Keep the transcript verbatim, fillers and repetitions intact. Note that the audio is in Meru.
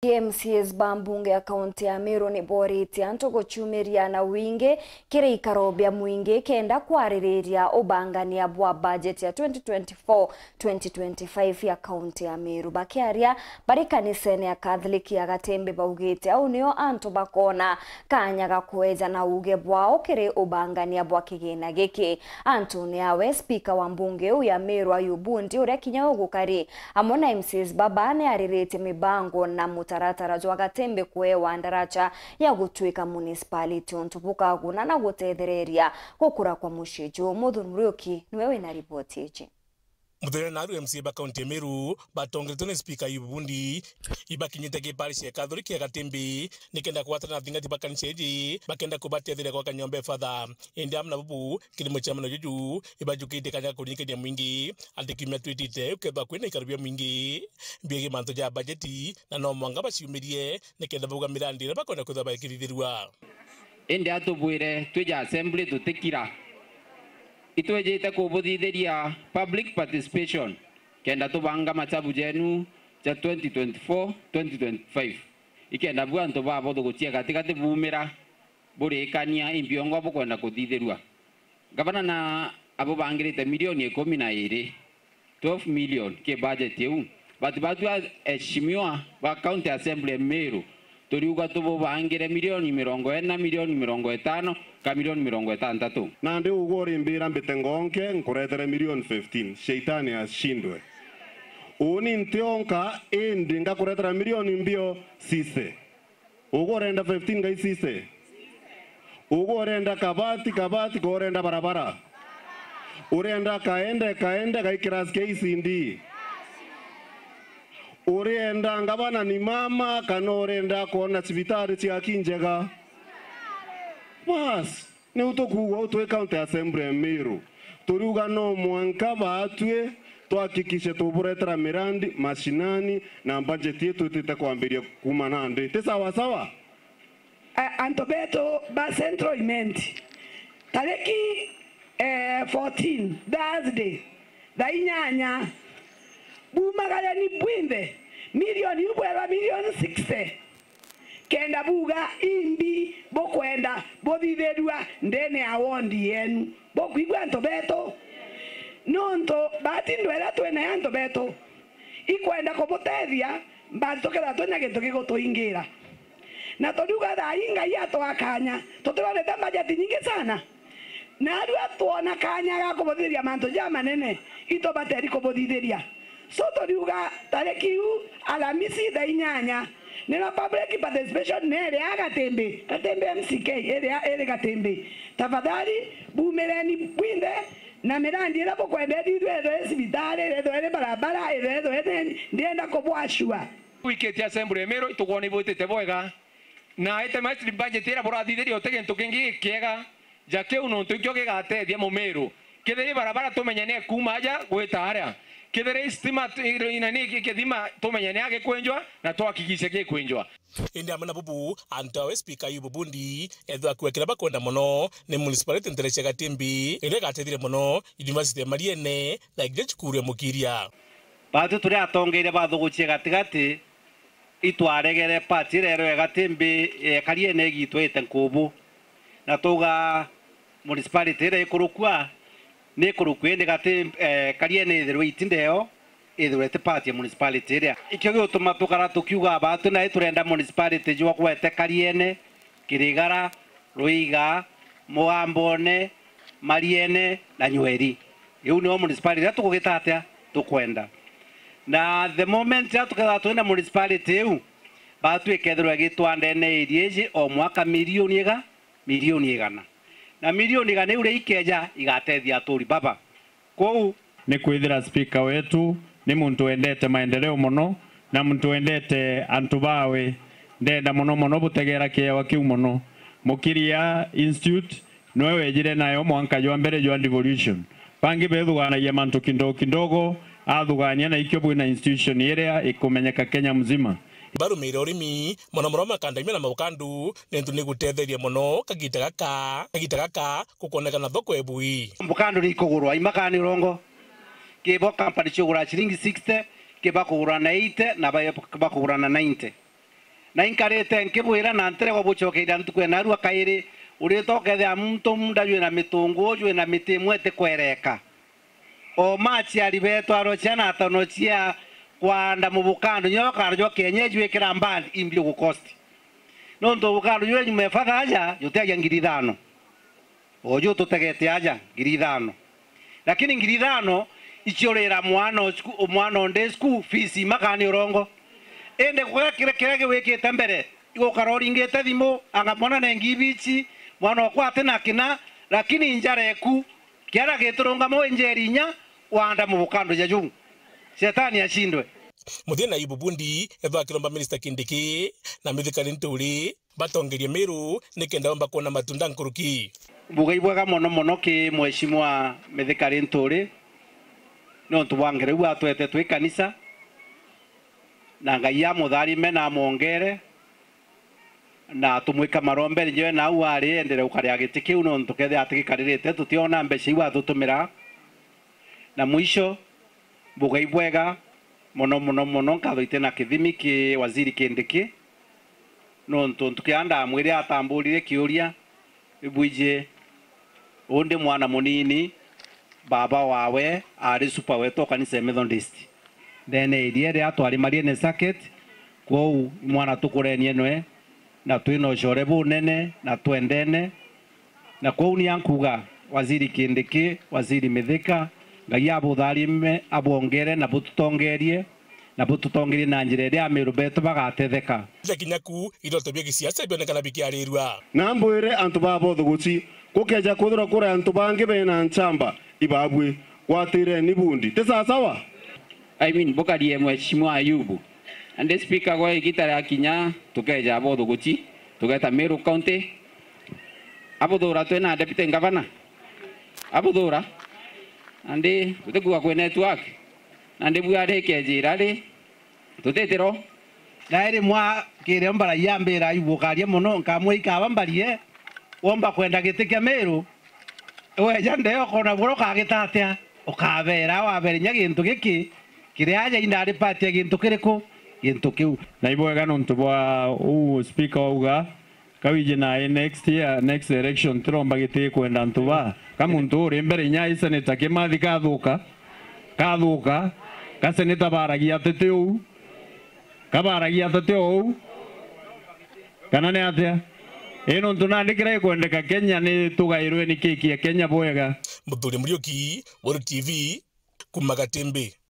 M C As ba mbunge ya kaunti ya Meru ni boritie antu gucumiria na wingi kiri ikaro bia mwingi kenda kwaririria ubangania bwa budget ya twenty twenty-four twenty twenty-five ya kaunti ya Meru. Bakiaria bari kanisene ya Catholic ya Gatembe, baugite au nio antu bakona kanya ga kweja na uge bwao kiri ubangania bwa kigina giki. Antune awe, spika wa mbunge iu ya Meru Ayubu Ndi, uria kinya ugukari amwe na M C As baba ni ariritie mibango na mutaratara jwa Gatembe kuewa ndaracha ya gutuika municipality, untu bukaguna na gutethereria gukura kwa mucii juu. Muthu Muriuki niwe wina riboti iji. Muthenya naru M C A ba kaunti ya Meru batongeretwe ni spika Ayubu Ndi ibakinyite ki parish ya Catholic ya Gatembe nikenda kugwatana na athingati ba kanisa iji bakenda kubatetheria gwaka nyomba ya father. Indi amwe na bubu, kirimo kia mwana juju ibajukitie kanya ga kuririkania mwingi ati kiumia twitite ukethwa kwina ikaro bia mwingi bigie mantu ja bajeti, na no mwanga baciumirie nikenda bauga mirandi iria bakwenda kwithwa bakithithirua. Indi atubwire, twi ja assembly tutikira. Itwijite kubuthithiria public participation kenda tubanga machabu jenu ja twenty twenty-four twenty twenty-five. Ikenda bu antu babuthugucia gatigati bumira burikania imbi ongwa bukwenda kuthithirua. Gavana na abubangirite milioni ikumi na iri, twelve million ki budget iu. But batwi aheshimiwa ba County Assembly Meru, turiuga tububangire milioni mirongo ina, milioni mirongo itano, ka milioni mirongo itantatu. Nandi ugwe urimbira mbite ngonke nkuretere milioni fifteen, sheitani ashindwe. Uni ntionka, indi ngakuretera milioni mbio sixty. Ugwe urenda fifteen ngai sixty? Ugwe urenda kabati, kabati, ka urenda barabara? Urenda kaende, kaende gai kirasi kia E C D? Urienda ngavana ni mama, kana urenda kwona cibitari ciaki njega? Bas, niu tukuuga uu twi County Assembly ya Meru. Turiuga no mwanka baatwi twahakikishe tuburetera mirandi mashinani na budget ii twitite kwambiria kuuma nandi. Ti sawa sawa? A-, antu betu ba Central Imenti, tariki, eh, fourteen, Thursday, thaa inyanya, bumagareni bwinthe, milioni iu bwerwa milioni sixty, kenda buuga imbi bukwenda buthithirua ndene ya wondi yenu. Bukwigua antu betu? Nontu baati ndwera twinayo antu betu ikwenda kubutethia, but tukethirwa twina gintu gigutuingira. Na turiuga thaa ii Ngai atwaa kanya, tutirorete mbajeti nyingi sana. Naarua twona kanya ga kubuthithiria mantu jamanene, itubateri kubuthithiria. So turiuga tariki iu Alamisi thaa inyanya, nina public participation neria Gatimbi, Gatimbi M C K iria iri Gatimbi. Tafadhali, bumireni bwinthe, na mirandi iria bukwenda ithithue, ithwe iri cibitari, ithwe iri barabara, ithwe, ithwe iri, ndienda kubwashua. Wikitie assembly ya Meru, itukwona ibwitite bwega. Na itemized budget iria burathithirie uti gintu kingi gikiega ja kiu, nontu ikio gigatethia Mumiru. Kethira i barabara, tumenye ni kuuma aja gwita aria. Kethira i stima, tu-, i-, ina ni ki-, kithima, tumenye ni a gikwinjwa, na twahakikishe gikwinjwa. Indi amwe na bubu, antu awe spika Ayubu Bundi, ethwa akiuga kiria bakwenda mono ni municipality ntere cia Gatimbi, iria igatethire mono university ya Mariene na iria cukuru ya Mukiria. Baatwi turi atongeria bathugucie gatigati, itwaregere part iria irwe Gatimbi, eh, Kariene igitwe ite nkubu. Na tuga municipality iria ikurukua, ni ikurukua indi Gati-, eh, Kariene ithirwe iti ndeo, ithirwe iti part ya municipality iria. Ikio gigutuma tukara tukiuga baatwi nai turenda municipality jwa gwete Kariene, Kirigara, Ruiga, Mugambone, Mariene na Nyueri. Iu nio municipality iria tugugita atia tukwenda. Na the moment iria tukethirwa twina municipality iu, baatwi ikethirwa igitwaa ndene area iji o mwaka milioni iga-, milioni igana. Na milioni igana iu ria ikeeja, igatethia aturi baba. Kwou, ni kwithira spika wetu ni muntu wendete maendeleo mono, na muntu wendete antu bawe, ndenda mono mono butegera kiewa kiu mono. Mukiria Institute niwe wejire nayo mwanka jwa mbere jwa devolution. Bangi bethuganagia mantu kidogo kidogo, athugania na ikio bwina institution iria ikumenyeka Kenya mzima. Barumire urimi, mono mono makandamia na mavukandu, nintu ni gutetheria mono kagita gaka, kagita gaka gukonekana thoko ebui. Mbukandu ni ikugurwa, imakani urongo. Kibo company ciugura ciringi sixty, kiba kugura na eighty, na ba-, bakugura na ninety. Na inkarite nkibwira na ntiregwa bucokeria ntuku ya narua kairi, urita ukethira muntu munda jwina mitungu, jwina miti imwe itikwereka. O maciari betu arwa ciana atano cia kwanda mubukando, nyo kando jwa kienyeji wikira mbandi imbi ugukosti. Nontu mubukando jwe nyuma ya father aja, jutiagia ngiri ithano. Uju tutegete aja, ngiri ithano. Lakini ngiri ithano iciurira mwana o sku-, mwana o day school fees imakani urongo. Indi kuria kiria, kiria giwikite mbere, igukara uringite thimu, anga mwana nengi ibici, mwana okwa atina kina, lakini njara eku, kiara giturungama wi njeri inya, wanda mubukando ja juu. Shetani ashindwe. Muthia na Ayubu Bundi, ethwa akiromba Minister Kindiki na Mithika Linturi batongerie Meru nikenda bomba kwona matunda nkuruki. Mbuga ibwega mono mono ki Mheshimiwa Mithika Linturi, nontu bwa ngero iu atwete twi kanisa, na Ngai amutharime na amwongere, na tumwika marombere njewe nau ari endere gukaria giti kiu, nontu kethira atigikaririte tutiona mbeca iu atutumira. Na mwisho, mbuga ibwega mono mono mono, nkatho iti na kithimi ki Waziri Kindiki, nontu ntuku ya ndamwire atamburire kiuria, ibwiji undi mwana munini, baba wawe ari super wetu o kanisa ya Methodist. Ndene iria riria twari Mariene Circuit, kwou mwana tukurenie nwe, na twina ucore bunene, na twendene, Na kwou ni ankuga, Waziri Kindiki, Waziri Mithika, Ngai abutharime, abwongere na bututongerie, na bututongerie na njira iria Ameru betu bagatetheka. Ila kinya ku, iroto bia gisiasa bionekana bikiarirua. Na mbwire antu ba Bothuguchi, gukeja kwithirwa kuri antu bangi bena nchamba, ibabui, gwatireni Bundi. Ti sawasawa? I mean, bukarie Mheshimiwa Ayubu. Andi speaker gwa igita ria kinya, tukeja Bothuguchi, tugeta Meru County. Abuthura twina deputy governor. Abuthura. Nandi tutikuga kwi network. Nandi bua rikejira ri, tutitiro. Nairi mwa kire mbara yambira ibukaria mono, nkamwe ikaba mbarie, womba kwenda giti kia Meru, weja ndeo kona buro kagita atia, ukabera, wabere nya gintu giki, kiri aja indaripatia gintu kiriku, gintu kiu. Na ibwega nontu bwa uu speaker wauga, Kawiji nae next year, next election, tiromba giti kwenda antu ba. Ka muntu uri mbere inya i senator Kimathi kathuka, kathuka, ka senator baragia atete uu, ka baragia atete uu, kana ni atia? I nontu nandi kiria gikwendeka Kenya ni tugairwe ni kiki ya Kenya bwega. Muthuri Muriuki, Weru T V, kuma Gatimbi.